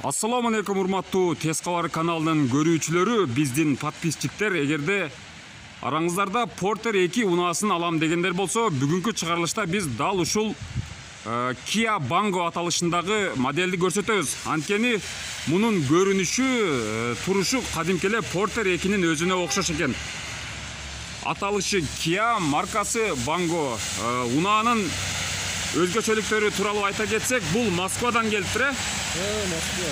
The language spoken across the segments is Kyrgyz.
Ассаламу алейкум урматтуу Тез кабар каналынын көрүүчүлөрү, биздин подписчиктер. Эгерде араңыздарда Porter 2 унаасын алам дегендер болсо, бүгүнкү чыгарылышта биз дал ушул Kia Bango аталышындагы модельди көрсөтөбүз. Анткени мунун көрүнүшү, турушу кадимки эле Porter 2-нин өзүнө окшош экен. Аталышы Kia, маркасы Bango. Унаанын өзгөчөлүктөрү тууралуу айта кетсек, бул Москвадан келиптир. Москва.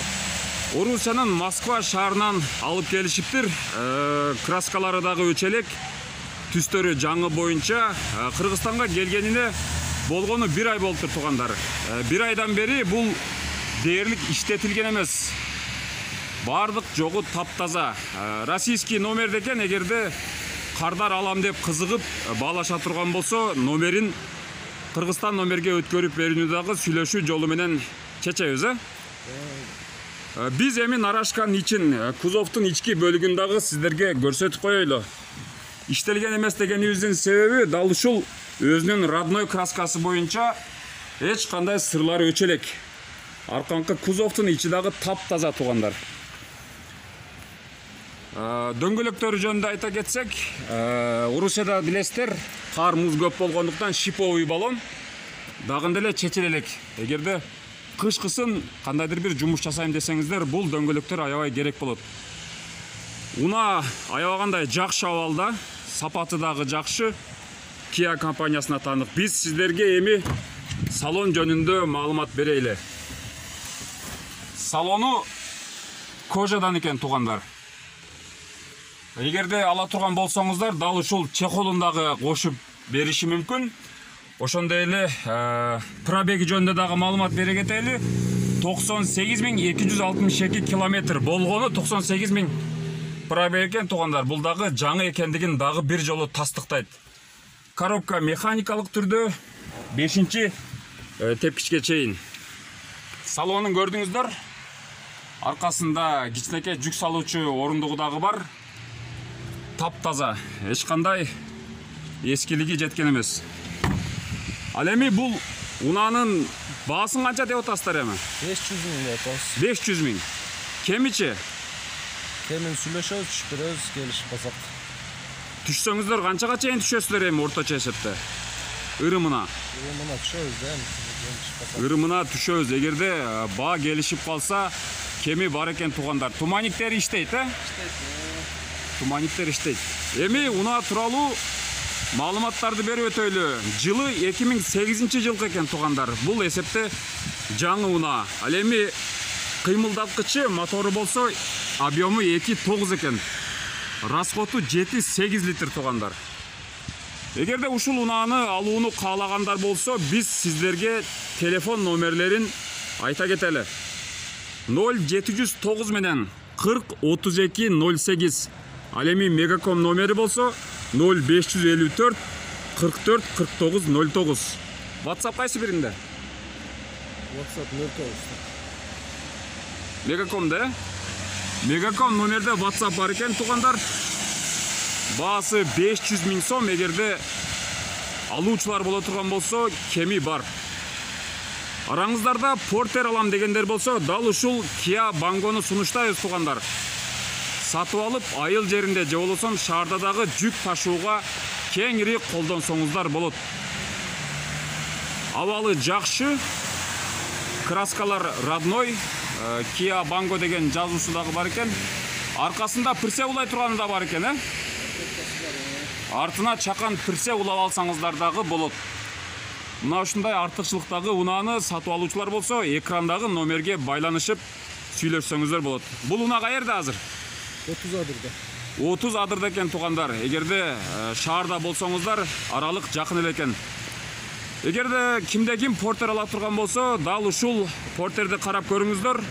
Орусиянын Москва шаарынан алып келишиптир. Краскалары дагы өчөлөк, түстөрү жаңы боюнча. Кыргызстанга келгенине болгону 1 ай болуптур туугандар. 1 айдан бери бул дээрлик иштетилген эмес. Бардык жогу таптаза. Российский номер экен. Эгерде кардар алам деп кызыгып баалаша турган болсо, номерин Кыргызстан номерге өткөрүп берүүнү дагы сүйлөшүү жолу менен чечебиз. Биз эми нарашканын ичин, кузовдун ички бөлүгүн дагы сиздерге көрсөтүп коелу. Иштелген эмес дегенибиздин себеби дал ушул өзүнүн родной краскасы боюнча эч кандай сырлары өчөлөк. Арканкы кузовдун ичи дагы таптаза туугандар. Дөңгөлөктөрү жөнүндө айта кетсек, Орусияда билесиздер, кар муз көп болгондуктан шиповый баллон дагында эле чечиле элек. Эгерде кышкысын кандайдыр бир жумуш жасайм десеңиздер, бул дөңгөлөктөр аябай керек болот. Унаа аябагандай жакшы абалда, сапаты дагы жакшы. Kia компаниясына таанык. Биз сиздерге эми салон жөнүндө маалымат берели. Салону кожадан экен туугандар. Эгерде ала турган болсоңуздар, дал ушул чехолун дагы кошуп бериши мүмкүн. Ошондой эле пробеги жөнүндө дагы маалымат бере кетели. 98.262 километр болгону 98.000 пробег экен туугандар. Бул дагы жаңы экендигин дагы бир жолу тастыктайт. Коробка механикалык түрдө 5-чи тепкичке чейин. Салонун көрдүңүздөр. Аркасында кичинекей жүк салуучу орундугу дагы бар. Таптаза, эч кандай эскилиги жеткен эмес. Ал эми бул унаанын баасын канча деп атасыздар эми? 500 миң деп атабыз. 500 миң. Кемичи? Кемин сүйлөшөбүз, түшүрөбүз, келишип калсак. Түшсөңүздөр канчага чейин түшөсүздөр эми орточо эсепте? Ырымына. Ырымына түшөбүз да, келишип калсак. Ырымына түшөбүз. Эгерде баа келишип калса, кеми бар экен туугандар. Туманиктер иштейт, Иштейт. Туманиктер иштейт. Эми унаа тууралуу маалыматтарды берип өтөйлү. Жылы 2008 жылкы экен туугандар. Бул эсепте жаңы унаа. Ал эми кыймылдаткычы мотору болсо объему 2.9 экен. Расходу 7-8 литр туугандар. Эгерде ушул унааны алууну каалагандар болсо, биз сиздерге телефон номерлерин айта кетели. 0709 менен 40 32 08. Ал эми Мегаком номери болсо 0554 44 49 09. WhatsApp кайсы биринде? WhatsApp 09. Мегакомда, Мегаком номерде WhatsApp бар экен туугандар. Баасы 500 миң сом. Эгерде алуучулар боло турган болсо, кеми бар. Араңыздарда Porter алам дегендер болсо, дал ушул Kia Bango'ну сунуштайбыз туугандар. Сатып алып, айыл жеринде же болосо шаарда дагы жүк ташууга кеңири колдонсоңуздар болот. Абалы жакшы, краскалар родной, Kia Bango деген жазуусу дагы бар экен. Аркасында пирсе улай турганы да бар экен, Артына чакан пирсе улап алсаңыздар дагы болот. Мына ушундай артыкчылыктагы унааны сатып алуучулар болсо, экрандагы номерге байланышып сүйлөшсөңүздөр болот. Бул унаа каерде азыр? 30 адырда. 30 адырда экен туугандар. Эгерде шаарда болсоңуздар, аралык жакын эле экен. Эгерде кимде ким Porter ала турган болсо, дал ушул Porterди карап көрүңүздөр.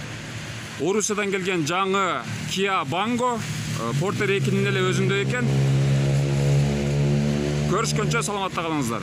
Орусиядан келген жаңы Kia Bango, Porter 2-нин эле өзүндө экен. Көрүшкөнчө саламатта калыңыздар.